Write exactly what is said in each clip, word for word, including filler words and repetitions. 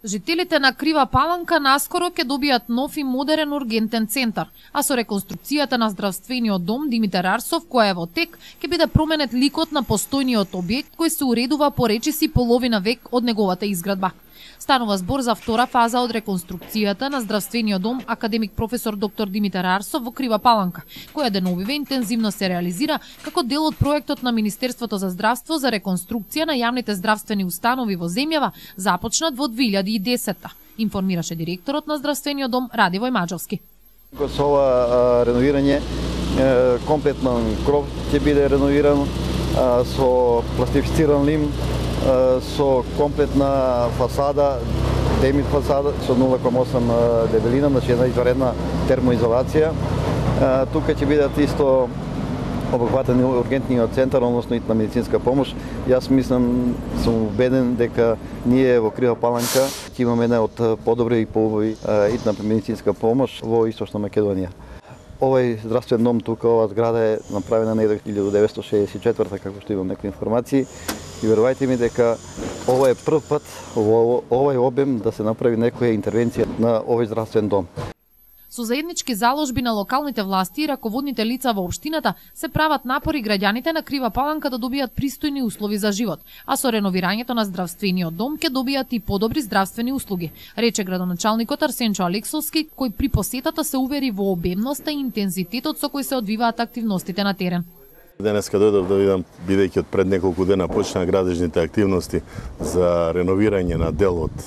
Жителите на Крива Паланка наскоро ќе добијат нов и модерен ургентен центар, а со реконструкцијата на здравствениот дом Димитар Арсов, која е во тек, ќе биде променет ликот на постојниот објект кој се уредува по речиси половина век од неговата изградба. Станува збор за втора фаза од реконструкцијата на здравствениот дом академик професор доктор Димитар Арсов во Крива Паланка, која деновиве интензивно се реализира како дел од проектот на Министерството за здравство за реконструкција на јавните здравствени установи во земјава, започнат во две илјади и десета. Информираше директорот на здравствениот дом Радивој Маџовски. Со ова реновирање комплетно кров ќе биде реновиран со пластифициран лим, со комплетна фасада, демит фасада со нула кoma осам дебелина, значи една изваредна термоизолација. Тука ќе бидат исто обхватен ургентниот центар, односно итна медицинска помош. Јас мислам, сум убеден дека ние во Крива Паланка ќе имаме една од подобри и поубави итна медицинска помош во Источна Македонија. Овој здравствен дом тука, ова зграда е направена на илјада деветстотини шеесет и четврта, како што имам некои информации. И верувајте ми дека ова е прв пат во овој обем да се направи некоја интервенција на овој здравствен дом. Со заеднички заложби на локалните власти и раководните лица во општината се прават напори граѓаните на Крива Паланка да добијат пристојни услови за живот, а со реновирањето на здравствениот дом ќе добијат и подобри здравствени услуги, рече градоначалникот Арсенчо Алексовски, кој при посетата се увери во обемноста и интензитетот со кој се одвиваат активностите на терен. Денеска дојдов да видам, бидејќи од пред неколку дена почна градежните активности за реновирање на дел од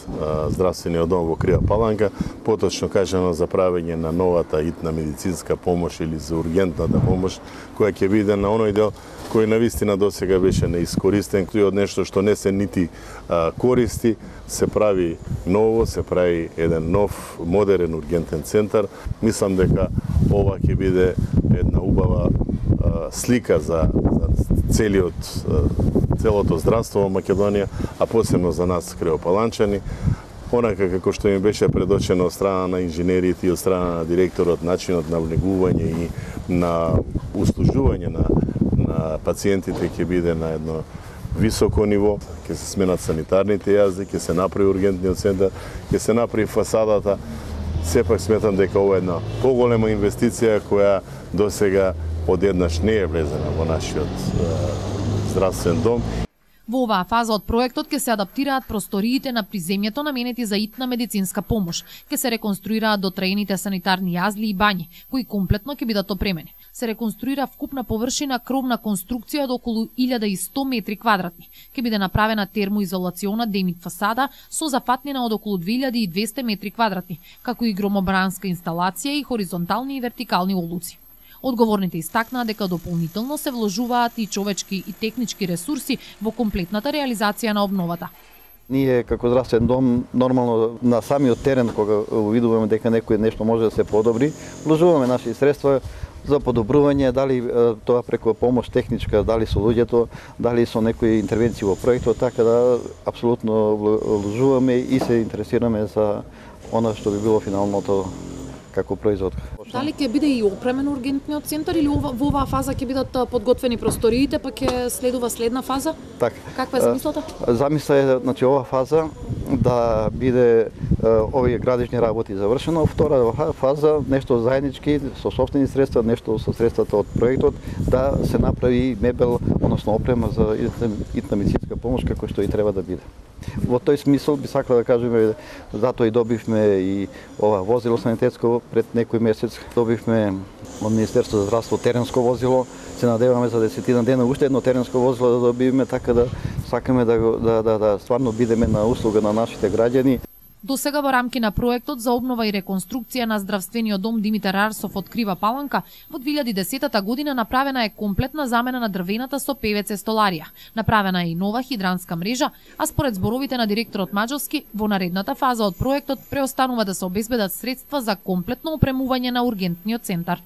здравствениот дом во Крива Паланка, поточно кажано за правење на новата итна медицинска помош или за ургентната помош, која ќе биде на оној дел кој навистина досега беше неискористен, кој од нешто што не се нити а, користи, се прави ново, се прави еден нов, модерен ургентен центар. Мислам дека ова ќе биде една убава а, слика за, за целиот, а, целото здравство во Македонија, а посебно за нас кривопаланчани. Онака како што им беше предочено од страна на инженерите и од страна на директорот, начинот на влегување и на услужување на на пациентите ќе биде на едно високо ниво, ќе се сменат санитарните јазди, ќе се направи ургентниот центар, ќе се направи фасадата. Сепак сметам дека ова е една поголема инвестиција која досега одеднаш не е влезена во нашиот здравствен дом. Во оваа фаза од проектот ќе се адаптираат просториите на приземјето наменети за итна медицинска помош, ќе се реконструираат дотраените санитарни јазли и бањи, кои комплетно ќе бидат опремени. Се реконструира вкупна површина кровна конструкција од околу илјада и сто метри квадратни. Ќе биде направена термоизолациона демит фасада со зафатнина од околу две илјади и двесте метри квадратни, како и громобранска инсталација и хоризонтални и вертикални олуци. Одговорните истакнаа дека дополнително се вложуваат и човечки и технички ресурси во комплетната реализација на обновата. Ние како здравствен дом нормално на самиот терен кога увидуваме дека некој нешто може да се подобри, вложуваме наши средства за подобрување, дали тоа преку помош техничка, дали со луѓето, дали со некои интервенции во проектот, така да апсолутно вложуваме и се интересираме за она што би било финалното како производ. Дали ќе биде и опремен ургентниот центар или во оваа фаза ќе бидат подготвени просториите, па ќе следува следна фаза? Така. Каква е замислата? Замисла е, значи, ова фаза да биде овие градежни работи завршено, втора фаза нешто заеднички со сопствени средства, нешто со средствата од проектот, да се направи мебел, односно опрема за итна медицинска помош како што и треба да биде. Во тој смисол би сакала да кажеме, затоа и добивме и ова возило санитетско пред некој месец, добивме од Министерството за здравство теренско возило, се надеваме за десетина дена уште едно теренско возило да добиеме, така да сакаме да да да, да стварно бидеме на услуга на нашите граѓани. До сега во рамки на проектот за обнова и реконструкција на здравствениот дом Димитар Арсов од Крива Паланка во две илјади и десета година направена е комплетна замена на дрвената со пе ве це столарија. Направена е и нова хидранска мрежа, а според зборовите на директорот Маџовски, во наредната фаза од проектот преостанува да се обезбедат средства за комплетно опремување на ургентниот центар.